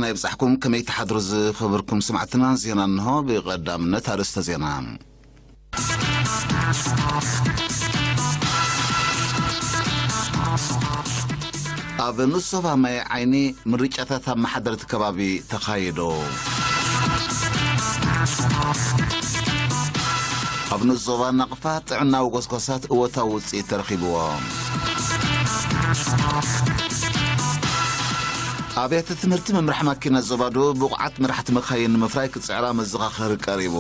ናይ ብጻሕኩም ከመይ ትሓድሩ ዝኸበርኩም ስማዕትና፣ ዜና እንሆ። ብቐዳምነት ኣርእስተ ዜና። ኣብ ንሶባ ማይ ዓይኒ ምርጫታት ኣመሓደርቲ ከባቢ ተኻይዶ። ኣብ ንሶባ ናቕፋ ጥዕናዊ ጎስጓሳት እወታዊ ውጽኢት ተረኺብዎ። ኣብያተ ትምህርቲ መምርሒ ማኪና ዞባ ደቡብ ብቑዓት መራሕቲ መኻይን ንምፍራይ ክጽዕራ መዘኻኸሪ ቀሪቡ።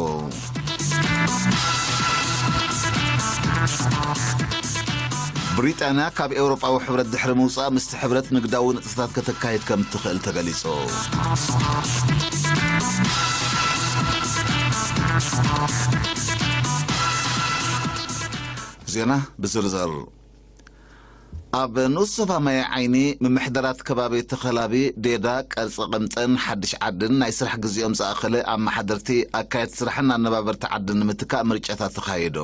ብሪጣንያ ካብ ኤውሮጳዊ ሕብረት ድሕሪ ምውጻእ ምስቲ ሕብረት ንግዳዊ ንጥፈታት ከተካይድ ከም እትኽእል ተገሊጹ። ዜና ብዝርዝር። ኣብ ንኡስ ዞባ ማይ ዓይኒ ምምሕዳራት ከባቢ ተኸላቢ፣ ዴዳ፣ ቀርጺ ቅምጥን ሓድሽ ዓድን ናይ ስራሕ ግዜኦም ዝኣኸለ ኣመሓደርቲ፣ ኣካየድቲ ስራሕን ኣነባበርቲ ዓድን ንምትካእ ምርጫታት ተኻይዱ።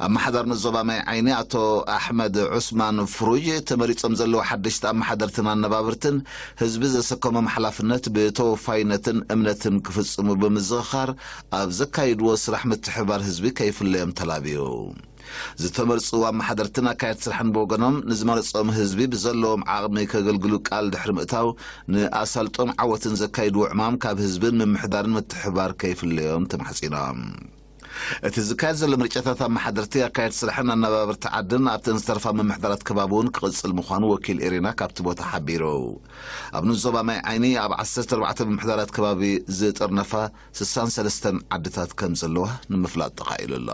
ኣመሓዳር ንኡስ ዞባ ማይ ዓይኒ ኣቶ ኣሕመድ ዑስማን ፍሩጅ፣ ተመሪጾም ዘለዉ ሓደሽቲ ኣመሓደርትን ኣነባበርትን ህዝቢ ዘሰከሞም ሓላፍነት ብተወፋይነትን እምነትን ክፍጽሙ ብምዝኽኻር፣ ኣብ ዘካይድዎ ስራሕ ምትሕብባር ህዝቢ ከይፍለዮም ተላብዩ። ዝተመርጹ ኣመሓደርትን ኣካየድቲ ስራሕን ብወገኖም፣ ንዝመረጾም ህዝቢ ብዘለዎም ዓቕሚ ከገልግሉ ቃል ድሕሪ ምእታው፣ ንኣሳልጦን ዓወትን ዘካይድዎ ዕማም ካብ ህዝብን ምምሕዳርን ምትሕብባር ከይፍለዮም ተማሕጺኖም። እቲ ዝካየድ ዘሎ ምርጫታት ኣመሓደርቲ፣ ኣካየድቲ ስራሕን ኣነባበርቲ ዓድን ኣብተን ዝተርፋ ምምሕዳራት ከባቢ እውን ክቕጽል ምዃኑ ወኪል ኤሪና ካብቲ ቦታ ሓቢሩ። ኣብ ንኡስ ዞባ ማይ ዓይኒ ኣብ ዓሰርተ ኣርባዕተ ምምሕዳራት ከባቢ ዝጥርነፋ ስሳን ሰለስተን ዓድታት ከም ዘለዋ ንምፍላጥ ተኻኢሉ ኣሎ።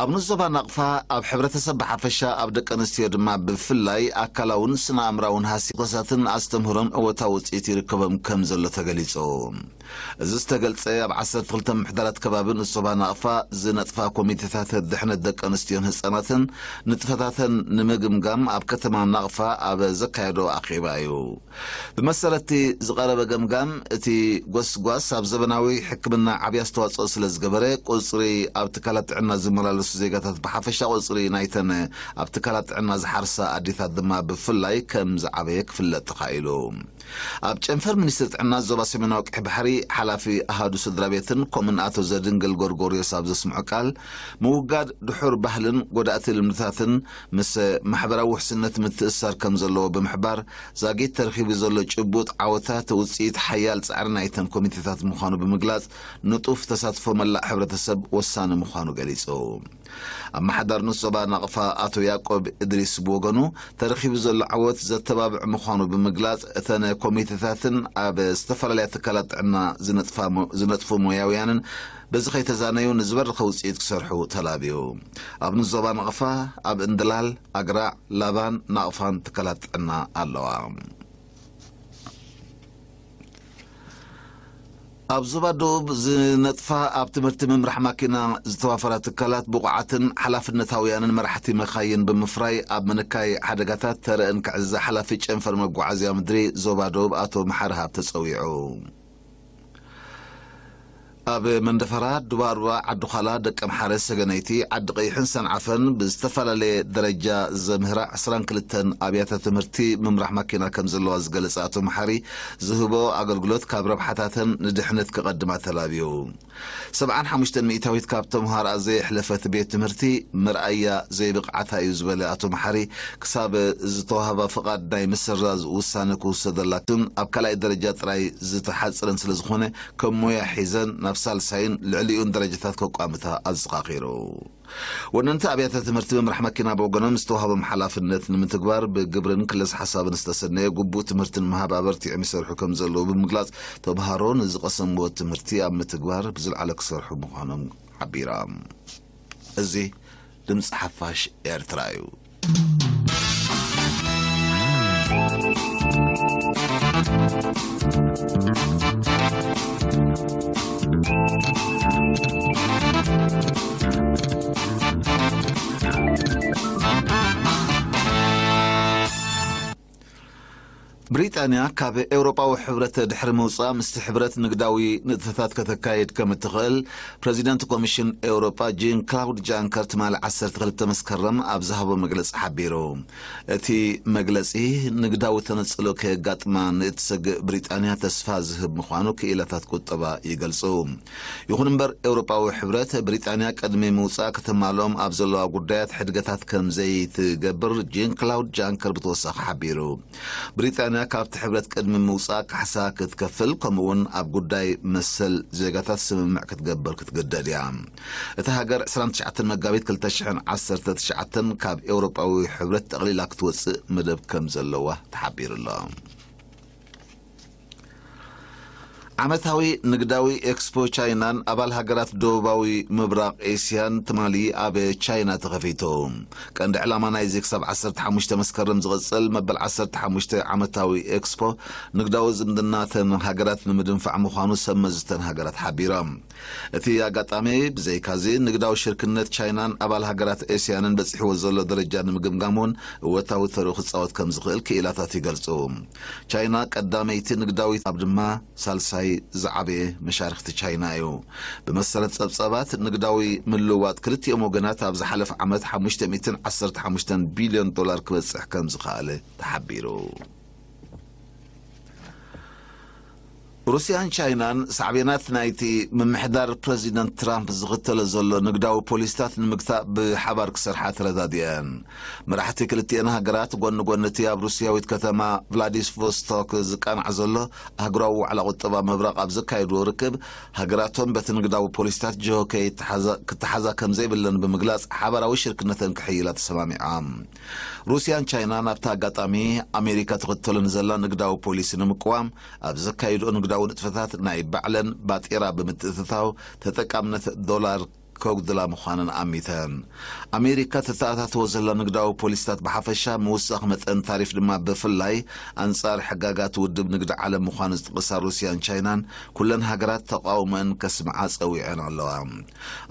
ኣብ ንኡስ ዞባ ናቕፋ፣ ኣብ ሕብረተሰብ ብሓፈሻ፣ ኣብ ደቂ ኣንስትዮ ድማ ብፍላይ፣ ኣካላውን ስነ ኣእምራውን ሃስያ ኮሳትን ኣስተምህሮን እወታዊ ውጽኢት ይርከቦም ከም ዘሎ ተገሊጹ። እዚ ዝተገልጸ፣ ኣብ ዓሰርተ ክልተ ምምሕዳራት ከባቢ ንኡስ ዞባ ናቕፋ ዝነጥፋ ኮሚቴታት ድሕነት ደቂ ኣንስትዮን ህጻናትን ንጥፈታተን ንምግምጋም ኣብ ከተማ ናቕፋ ኣብ ዘካየዶ ኣኼባ እዩ። ብመሰረት'ቲ ዝቐረበ ገምጋም፣ እቲ ጎስጓስ ኣብ ዘበናዊ ሕክምና ዓቢ ኣስተዋጽኦ ስለ ዝገበረ፣ ቁጽሪ ኣብ ትካላት ጥዕና ዝመላለሱ ዜጋታት ብሓፈሻ፣ ቁጽሪ ናይተን ኣብ ትካላት ጥዕና ዝሓርሳ ኣዴታት ድማ ብፍላይ ከም ዝዓበየ ክፍለጥ ተኻኢሉ። ኣብ ጨንፈር ሚኒስትሪ ጥዕና ዞባ ሰሜናዊ ቀይሕ ባሕሪ፣ ሓላፊ ኣሃዱ ስድራ ቤትን ኮምን ኣቶ ዘድንግል ጎርጎርዮስ ኣብ ዘስምዖ ቃል፣ ምውጋድ ድሑር ባህልን ጎዳእቲ ልምድታትን ምስ ማሕበራዊ ውሕስነት ምትእስሳር ከም ዘለዎ ብምሕባር፣ ዛጊት ተረኺቡ ዘሎ ጭቡጥ ዓወታት ውጽኢት ሓያል ጻዕሪ ናይተን ኮሚቴታት ምዃኑ ብምግላጽ፣ ንጡፍ ተሳትፎ መላእ ሕብረተሰብ ወሳኒ ምዃኑ ገሊጹ። ኣመሓዳሪ ንኡስ ዞባ ናቕፋ ኣቶ ያዕቆብ እድሪስ ብወገኑ፣ ተረኺቡ ዘሎ ዓወት ዘተባብዕ ምዃኑ ብምግላጽ፣ እተን ኮሚቴታትን ኣብ ዝተፈላለያ ትካላት ጥዕና ዝነጥፋ ሞ-፣ ዝነጥፉ ሞያውያንን በዚ ከይተዛነዩ ንዝበረኸ ውጽኢት ክሰርሑ ተላብዩ። ኣብ ንኡስ ዞባ ናቕፋ፣ ኣብ እንድላል፣ ኣግራዕ፣ ላባን ናቕፋን ትካላት ጥዕና ኣለዋ። ኣብ ዞባ ደቡብ ዝነጥፋ ኣብ ትምህርቲ ምምራሕ ማኪና ዝተዋፈራ ትካላት ብቑዓትን ሓላፍነታውያንን መራሕቲ መኻይን ብምፍራይ ኣብ ምንካይ ሓደጋታት ተረእን ክዕዘ ሓላፊ ጨንፈር መጓዓዝያ ምድሪ ዞባ ደቡብ ኣቶ መሓሪ ሃብተ ጸዊዑ። ኣብ መንደፈራ፣ ዱባርባ፣ ዓዲ ዃላ፣ ደቀምሓረ፣ ሰገነይቲ፣ ዓዲ ቀይሕን ሰንዓፈን ብዝተፈላለየ ደረጃ ዘምህራ ዕስራን ክልተን ኣብያተ ትምህርቲ ምምራሕ ማኪና ከም ዘለዋ ዝገለጸ ኣቶ መሓሪ፣ ዝህቦ ኣገልግሎት ካብ ረብሓታተን ንድሕነት ክቐድማ ተላብዩ። ሰብዓን ሓሙሽተን ሚእታዊት ካብ ተምሃሮኣ ዘየሕለፈት ቤት ትምህርቲ መርኣያ ዘይብቕዓታ እዩ ዝበለ ኣቶ መሓሪ፣ ክሳብ ዝተዋህባ ፍቓድ ናይ ምስራዝ ውሳነ ክውሰደላትን ኣብ ካልኣይ ደረጃ ጥራይ ዝተሓጽረን ስለ ዝኾነ፣ ከም ሞያ ሒዘን ናብ ሳልሳይን ልዕሊኡን ደረጃታት ከቋምታ ኣዘኻኺሩ። ወነንቲ ኣብያተ ትምህርቲ ምምራሕ መኪና ብወገኖም ዝተዋህቦም ሓላፍነት ንምትግባር ብግብርን ክለስ ሓሳብን ዝተሰነየ ግቡእ ትምህርቲ ንምሃብ ኣበርቲዖም ይሰርሑ ከም ዘለዉ ብምግላጽ፣ ተምሃሮ ንዝቐሰምዎ ትምህርቲ ኣብ ምትግባር ብዝለዓለ ክሰርሑ ምዃኖም ሓቢሮም። እዚ ድምፂ ሓፋሽ ኤርትራ እዩ። ብሪጣንያ ካብ ኤውሮጳዊ ሕብረት ድሕሪ ምውጻእ ምስቲ ሕብረት ንግዳዊ ንጥፈታት ከተካይድ ከም እትኽእል ፕረዚደንት ኮሚሽን ኤውሮጳ ጂን ክላውድ ጃንከር ትማሊ ዓሰርተ ክልተ መስከረም ኣብ ዝሃቦ መግለጺ ሓቢሩ። እቲ መግለጺ ንግዳዊ ተነጽሎ ከየጋጥማ ንእትሰግእ ብሪጣንያ ተስፋ ዝህብ ምዃኑ ክኢላታት ቁጠባ ይገልጹ። ይኹን እምበር ኤውሮጳዊ ሕብረት ብሪጣንያ ቅድሚ ምውጻእ ከተማልኦም ኣብ ዘለዋ ጉዳያት ሕድገታት ከም ዘይትገብር ጂን ክላውድ ጃንከር ብተወሳኺ ሓቢሩ። ብሪጣንያ ካብቲ ሕብረት ቅድሚ ምውጻእ ካሕሳ ክትከፍል ከምኡውን ኣብ ጉዳይ መሰል ዜጋታት ስምምዕ ክትገብር ክትግደድ እያ። እታ ሃገር ዕስራን ትሽዓተን መጋቢት ክልተ ሽሕን ዓሰርተ ትሽዓተን ካብ ኤውሮጳዊ ሕብረት ጠቕሊላ ክትወጽእ መደብ ከም ዘለዋ ተሓቢሩ ኣሎ። ዓመታዊ ንግዳዊ ኤክስፖ ቻይናን ኣባል ሃገራት ደቡባዊ ምብራቕ ኤስያን ትማሊ ኣብ ቻይና ተኸፊቱ። ቀንዲ ዕላማ ናይዚ ክሳብ ዓሰርተ ሓሙሽተ መስከረም ዝቕጽል መበል ዓሰርተ ሓሙሽተ ዓመታዊ ኤክስፖ ንግዳዊ ዝምድናተን ሃገራት ንምድንፋዕ ምዃኑ ሰብ መዚ እተን ሃገራት ሓቢሮም። እቲ ኣጋጣሚ ብዘይካዚ ንግዳዊ ሽርክነት ቻይናን ኣባል ሃገራት ኤስያንን በጺሕዎ ዘሎ ደረጃ ንምግምጋም እውን እወታዊ ተርኡ ክጻወት ከም ዝኽእል ክኢላታት ይገልጹ። ቻይና ቀዳመይቲ ንግዳዊት ኣብ ድማ ሳልሳይ ዝዓበየ መሻርክቲ ቻይና እዩ። ብመሰረት ጸብጻባት ንግዳዊ ምልውዋጥ ክልቲኦም ወገናት ኣብ ዝሓለፈ ዓመት ሓሙሽተ ሚእትን ዓሰርተ ሓሙሽተን ቢልዮን ዶላር ክበጽሕ ከም ዝኸኣለ ተሓቢሩ። ሩስያን ቻይናን ሳዕቤናት ናይቲ ምምሕዳር ፕረዚደንት ትራምፕ ዝኽተሎ ዘሎ ንግዳዊ ፖሊሲታት ንምግታእ ብሓባር ክሰርሓ ተረዳዲአን። መራሕቲ ክልቲኤን ሃገራት ጎኒ ጎኒ እቲ ኣብ ሩስያዊት ከተማ ቭላዲስቮስቶክ ዝቃናዕ ዘሎ ኣህጉራዊ ዋዕላ ቁጠባ ምብራቕ ኣብ ዘካየድዎ ርክብ፣ ሃገራቶም በቲ ንግዳዊ ፖሊሲታት ጅሆ ከይተሓዛ-፣ ክተሓዛ ከም ዘይብለን ብምግላጽ ሓባራዊ ሽርክነተን ክሕይላ ተሰማሚዖም። ሩስያን ቻይናን ኣብቲ ኣጋጣሚ ኣሜሪካ ትኽተሎ ንዘላ ንግዳዊ ፖሊሲ ንምቅዋም ኣብ ዘካይድኦ ንግዳዊ ንጥፈታት ናይ ባዕለን ባጤራ ብምትእትታው ተጠቃምነት ዶላር ከጉድላ ምዃነን ኣሚተን። ኣሜሪካ ተተኣታትዎ ዘላ ንግዳዊ ፖሊሲታት ብሓፈሻ ምውሳኽ መጠን ታሪፍ ድማ ብፍላይ ኣንጻር ሕጋጋት ውድብ ንግዲ ዓለም ምዃኑ ዝጠቐሳ ሩስያን ቻይናን ኩለን ሃገራት ተቃውሞአን ከስምዓ ጸዊዐን ኣለዋ።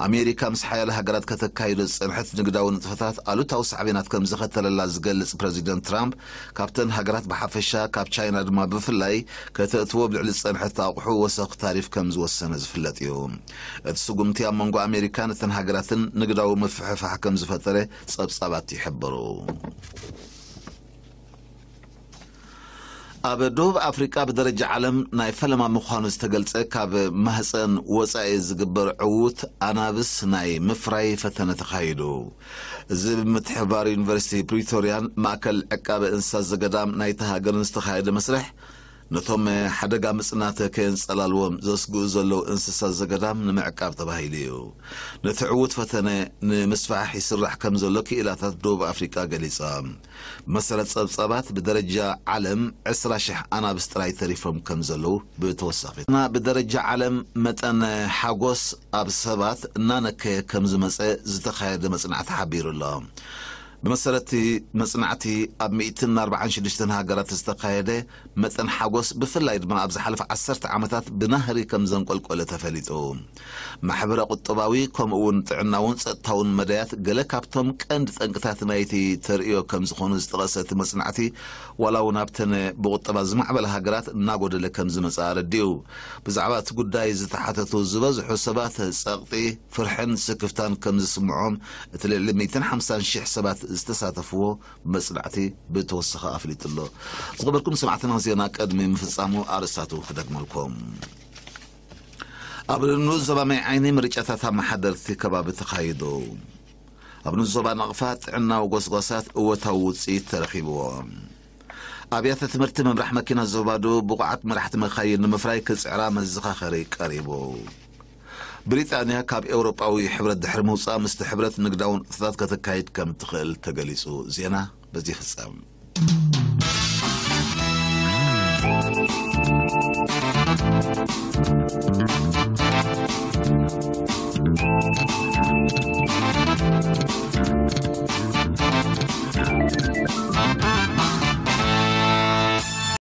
ኣሜሪካ ምስ ሓያለ ሃገራት ከተካይዶ ዝጸንሐት ንግዳዊ ንጥፈታት ኣሉታዊ ሳዕቤናት ከም ዘኸተለላ ዝገልጽ ፕረዚደንት ትራምፕ፣ ካብተን ሃገራት ብሓፈሻ ካብ ቻይና ድማ ብፍላይ ከተእትዎ ኣብ ልዕሊ ዝጸንሐት ኣቑሑ ወሰኽ ታሪፍ ከም ዝወሰነ ዝፍለጥ እዩ። እቲ ስጉምቲ ኣብ መንጎ ኣሜሪካን እተን ሃገራትን ንግዳዊ ምፍሕፋሕ ከም ዝፈጠረ ጸብጻባት ይሕብሩ። ኣብ ደቡብ ኣፍሪቃ ብደረጃ ዓለም ናይ ፈለማ ምዃኑ ዝተገልጸ ካብ ማህፀን ወጻኢ ዝግበር ዕዉት ኣናብስ ናይ ምፍራይ ፈተነ ተኻይዱ። እዚ ብምትሕብባር ዩኒቨርሲቲ ፕሪቶርያን ማእከል ዕቃበ እንስሳ ዘገዳም ናይታ ሃገርን ዝተኻየደ መስርሕ፣ ነቶም ሓደጋ ምጽናት ከየንጸላልዎም ዘስግኡ ዘለዉ እንስሳ ዘገዳም ንምዕቃብ ተባሂሉ እዩ። ነቲ ዕዉት ፈተነ ንምስፋሕ ይስራሕ ከም ዘሎ ክኢላታት ደቡብ ኣፍሪቃ ገሊጻ። ብመሰረት ጸብጻባት ብደረጃ ዓለም ዕስራ ሽሕ ኣናብስ ጥራይ ተሪፎም ከም ዘለዉ ብተወሳኺ። እና ብደረጃ ዓለም መጠን ሓጎስ ኣብ ሰባት እናነከየ ከም ዝመጸ ዝተኻየደ መጽናዕቲ ሓቢሩ ኣሎ። ብመሰረት እቲ መጽናዕቲ ኣብ ሚእትን ኣርባዓን ሽዱሽተን ሃገራት ዝተኻየደ መጠን ሓጎስ ብፍላይ ድማ ኣብ ዝሓለፈ ዓሰርተ ዓመታት ብናህሪ ከም ዘንቆልቆለ ተፈሊጡ። ማሕበረ ቁጠባዊ ከምኡ እውን ጥዕናውን ጸጥታውን መዳያት ገለ ካብቶም ቀንዲ ጠንቅታት ናይቲ ተርእዮ ከም ዝኾኑ ዝጠቐሰ እቲ መጽናዕቲ፣ ዋላ እውን ኣብተን ብቁጠባ ዝማዕበላ ሃገራት እናጎደለ ከም ዝመጽእ ኣረዲኡ። ብዛዕባ እቲ ጉዳይ ዝተሓተቱ ዝበዝሑ ሰባት ጸቕጢ፣ ፍርሕን ስክፍታን ከም ዝስምዖም እቲ ልዕሊ ሚእትን ሓምሳን ሽሕ ሰባት ዝተሳተፍዎ መጽናዕቲ ብተወሳኺ ኣፍሊጡ ኣሎ። ዝኸበርኩም ሰማዕትና፣ ዜና ቅድሚ ምፍጻሙ ኣርእስታቱ ክደግመልኩም። ኣብ ንኡስ ዞባ ማይ ዓይኒ ምርጫታት ኣመሓደርቲ ከባቢ ተኻይዱ። ኣብ ንኡስ ዞባ ናቕፋ ጥዕናዊ ጎስጓሳት እወታዊ ውጽኢት ተረኺብዎ። ኣብያተ ትምህርቲ ምምራሕ መኪና ዞባ ደቡብ ብቑዓት መራሕቲ መኻይን ንምፍራይ ክጽዕራ መዘኻኸሪ ቀሪቡ። ብሪጣንያ ካብ ኤውሮጳዊ ሕብረት ድሕሪ ምውጻእ ምስቲ ሕብረት ንግዳዊ ንጥፈታት ከተካይድ ከም ትኽእል ተገሊጹ። ዜና በዚ ይፍጸም።